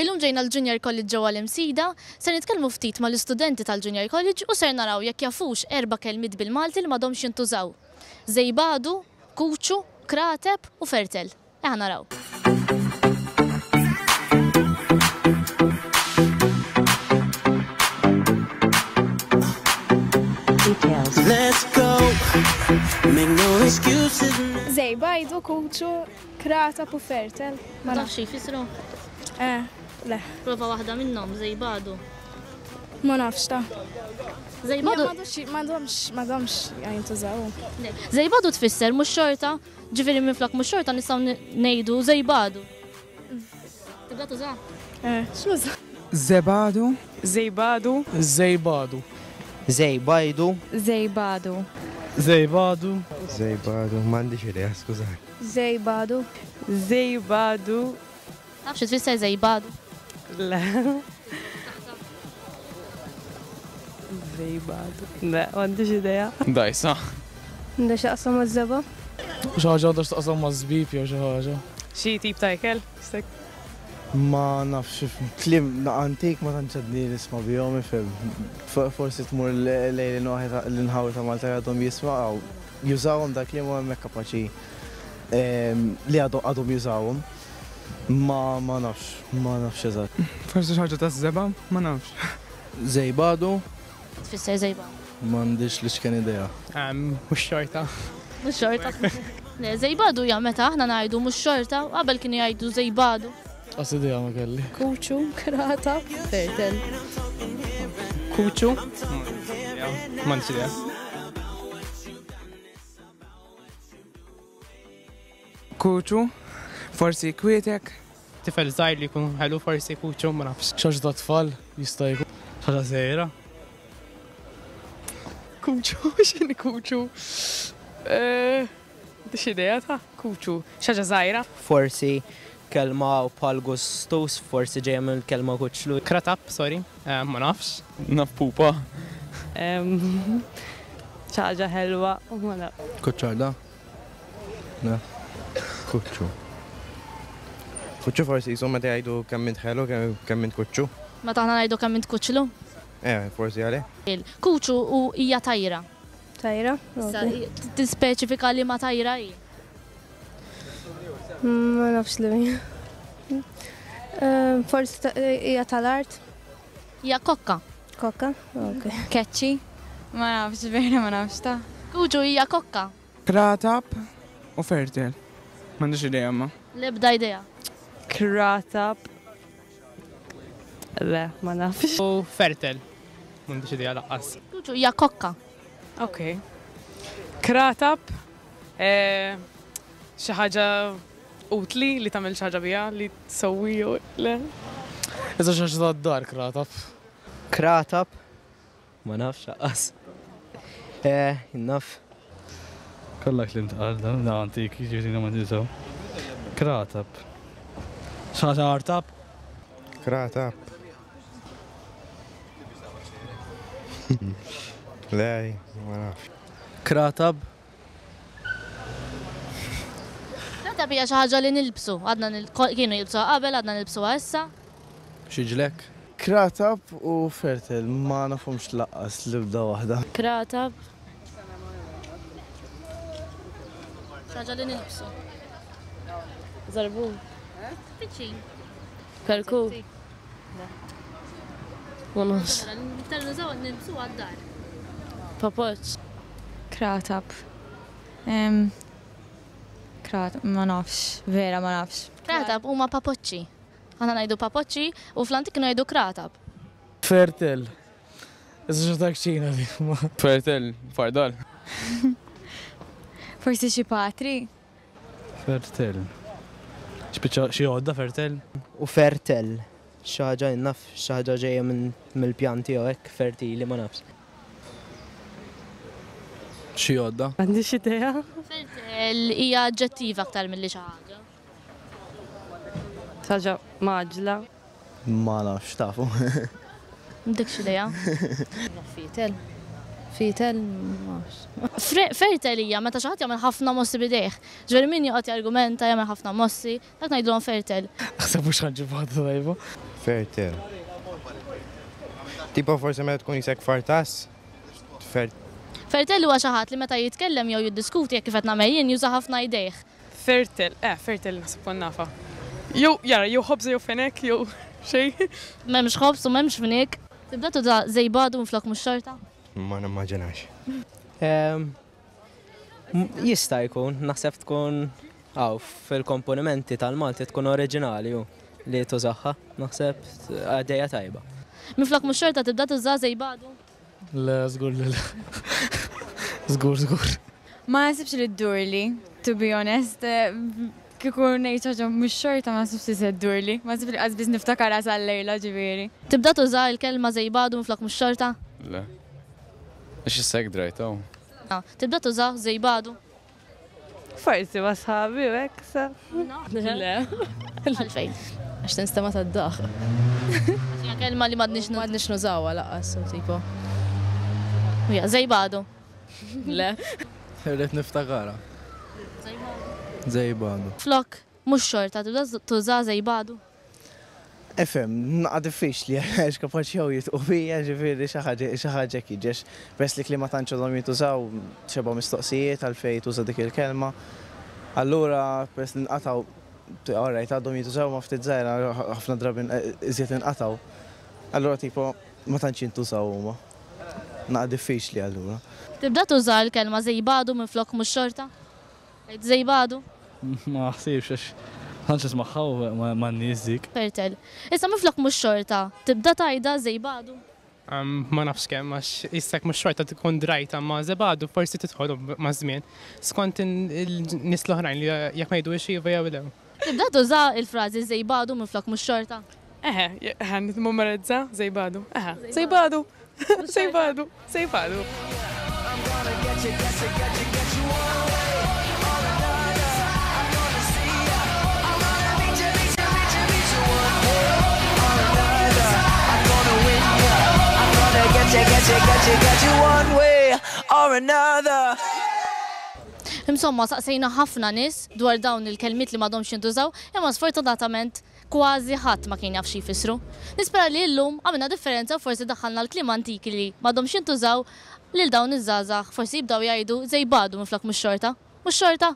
Illum ġejna l-Junior College ġewwa l-Imsida, ser nitkellmu ftit mal-istudenti tal-Junior College u ser naraw jekk jafux erba' kelmiet bil-Malti li m'għadhomx jintużaw. Żejbadu, kuċu, krateb u fertel. Eħa naraw. Let's go. Make no excuses. Żejbajdu, kuċu, krateb u fertel. Ma tafx xi jfissru? Eh, le. Prova waħda minnhom, żejbadu. Ma nafx ta. Żejbadu. M'għadhomx, m'għadhomx jintużaw. Żejbadu tfisser mhux xorta, ġifieri minflok mhux xorta nistgħu ngħidu żejbadu. Tibda tuża? Eh, x'nuża? Żebadu. Żejbadu. Żejbadu. Żejbajdu. Żejbadu. Żejbadu. Żejbadu, m'għandix idea, skużani. Żejbadu. Żejbadu. Taf xi tfisser żejbadu? Le. Żejbadu. Le, m'għandix idea. Dajsa. Għandha x'taqsam maż-żebgħa? Xi ħaġa għandha x'taqsam maż-żbib jew xi ħaġa. Xi tip ta' ikel? Ma nafx, kliem antik ma tantx għadni nisma' bihom, ifhem. Forsi tmur lejn l-inħawi ta' Malta li għadhom jismgħu, jużawhom dal-kliem u hemmhekk kapaċi li għadhom jużawhom. Ma ma nafx, ma nafx eżatt. Forsi xi ħaġa taż-żebgħa, ma nafx. Żejbadu. Tfisser żejbadu? M'għandix l-iċken idea. Mhux xorta. Mhux xorta. Le, żejbadu hija meta aħna ngħidu mhux xorta, qabel kienu jgħidu żejbadu. Qas idea ma kelli. Kuċu, krata, fertel. Kuċu? M'għandix idea. Kuċu, forsi kwietek. Tifel żgħir li jkun ħelu forsi kuċu, ma nafx. Xi ħaġa ta' tfal jista' jkun. Xi ħaġa żgħira. Kuċu, x'inhi kuċu? Eh, M'għandix idea ta' kuċu. Xi ħaġa żgħira. Forsi kelma bħal gustus, forsi ġejja mill-kelma kuċlu. Kratap, sorry, eh, ma nafx. Naf pupa. Xi ħaġa ħelwa, ma nafx. Kuċċarda? Le. Kuċċu. Kuċċu forsi jisom meta jgħidu kemm int ħelu, kemm int kuċċu. Meta aħna ngħidu kemm int kuċlu? Eh, forsi għalih. Kuċu u hija tajra. Tajra? Issa tispeċifika li ma tajra hi. Ma nafx li hija. Eh, forsi hija tal-art. Hija kokka. Kokka? Ok. Keċċi? Ma nafx, vera ma nafx ta. Kuġu hija kokka. Kratab u fertel. M'għandix idea ma. L-ebda idea. Kratab. Le, ma nafx. U fertel. M'għandix idea laqqas. Kuġu hija kokka. Ok. Kratab. Eh, xi ħaġa utli li tagħmel xi ħaġa biha li tsewwi jew le. Iżda xi ħaġa tad-dar kratab. Kratab. Ma nafx aqqas. Eh, naf. Kollha kliem tqal dan, da antik, jiġifieri ma niżgħu. Kratab. Xi ħaġa artab? Kratab. Le, ma nafx. Kratab. Kratab hija xi ħaġa li nilbsu, għadna kienu jilbsuha qabel, għadna nilbsuha issa. Xi ġlekk? Kratab u fertel ma nafhomx laqqas l-ebda waħda. Kratab. Xi ħaġa li nilbsu. Żarbun. Viċin. Kalku. Ma nafx. Iktar nużaw nilbsu għad-dar. Papoċ. Kratab. Krat, ma nafx, vera ma nafx. Kratab huma papoċċi. Aħna ngħidu papoċċi u fl-antik kienu jgħidu kratab. Fertel. Iżda xi ta' kċina dik. Fertel, fardal. Forsi xi patri? Fertel. Xi xi għodda fertel? U fertel. Xi ħaġa naf, xi ħaġa ġejja mill-pjanti jew hekk fertili ma nafx. Xi għodda? M'għandix idea. Fertel hija aġġettiv aktar milli xi ħaġa. Xi ħaġa mgħaġġla. Ma nafx, tafu. M'għandekx idea? Fitel. Fitel, ma nafx. Fertel hija meta xi ħadd jagħmel ħafna mossi b'idejh. Ġifieri min joqgħod jargumenta, jagħmel ħafna mossi, dak ngħidulhom fertel. Naħseb mhux ħa nġib waħda tajba. Fertel. Tipo forsi meta tkun isek fartas? Fer. Fertel huwa xi ħadd li meta jitkellem jew jiddiskuti hekk kif qed nagħmel jien juża ħafna jdejh. Fertel, eh fertel naħseb kont nafha. Jew jara jew ħobża jew fenek jew xejn. M'hemmx ħobż u m'hemmx fniek. Tibda tuża żejbadu minflok mhux xorta? Ma nimmaġinax. Jista' jkun, naħseb tkun hawn fil-komponimenti tal-Malti tkun oriġinali hu li tużaha, naħseb għaddejja tajba. Minflok mhux xorta tibda tuża żejbadu? Le, żgur li le. Żgur, żgur. Ma naħsibx li ddurli, to be honest. Kieku ngħid xi ħaġa mhux xorta ma naħsibx li se ddurli. Ma naħsibx li qas biss niftakarha sal-lejla ġifieri. Tibda tuża l-kelma żejbadu minflok mhux xorta? Le. Għax issa hekk drajtha u. Tibda tuża żejbadu? Forsi ma' sħabi u hekk sa. Le. Għalfejn? Għax tinstema' tad-daħq. Għax hija kelma li m'għadniex M'għadniex nużawha lanqas, so tipo. Hija żejbadu. Le. Irrid niftakarha. Żejbadu. Flok mhux xorta tibda tuża żejbadu. Ifhem, naqa' diffiċli għax kapaċi jew jitqu bija ġifieri xi ħaġa xi ħaġa hekk jiġi għax peress li kliem ma tantx għadhom jintużaw xebgħa mistoqsijiet għalfejn tuża dik il-kelma. Allura peress li nqatgħu all right għadhom jintużaw ma ftit żgħira ħafna drabi iżjed inqatgħu. Allura tipo ma tantx jintużaw huma. Naqa' diffiċli allura. Tibda tuża l-kelma żejbadu minflok mhux xorta? Tgħid żejbadu? Ma naħsibx għax tantx nismagħha man-nies dik. Fertel. Issa minflok mhux xorta, tibda tgħidha żejbadu? Ma nafx kemm għax issa mhux xorta tkun drajta ma żebadu forsi tidħol maż-żmien. Skont in-nies l-oħrajn li jekk ma jgħiduhiex iva jew le. Tibda tuża l-frażi żejbadu minflok mhux xorta? Eħe, eħe, nitmemorizza żejbadu. Eħe, żejbadu. Żejbadu, żejbadu. Insomma, saqsejna ħafna nies dwar dawn il-kelmiet li m'għadhomx jintużaw, imma sfortunatament Kważi ħadd ma kien jaf xi jfissru. Nispera li illum għamilna differenza u forsi daħħalna l-kliem antiki li m'għadhomx jintużaw lil dawn iż-żgħażagħ forsi jibdew jgħidu żejbadu minflok mhux xorta. Mhux xorta?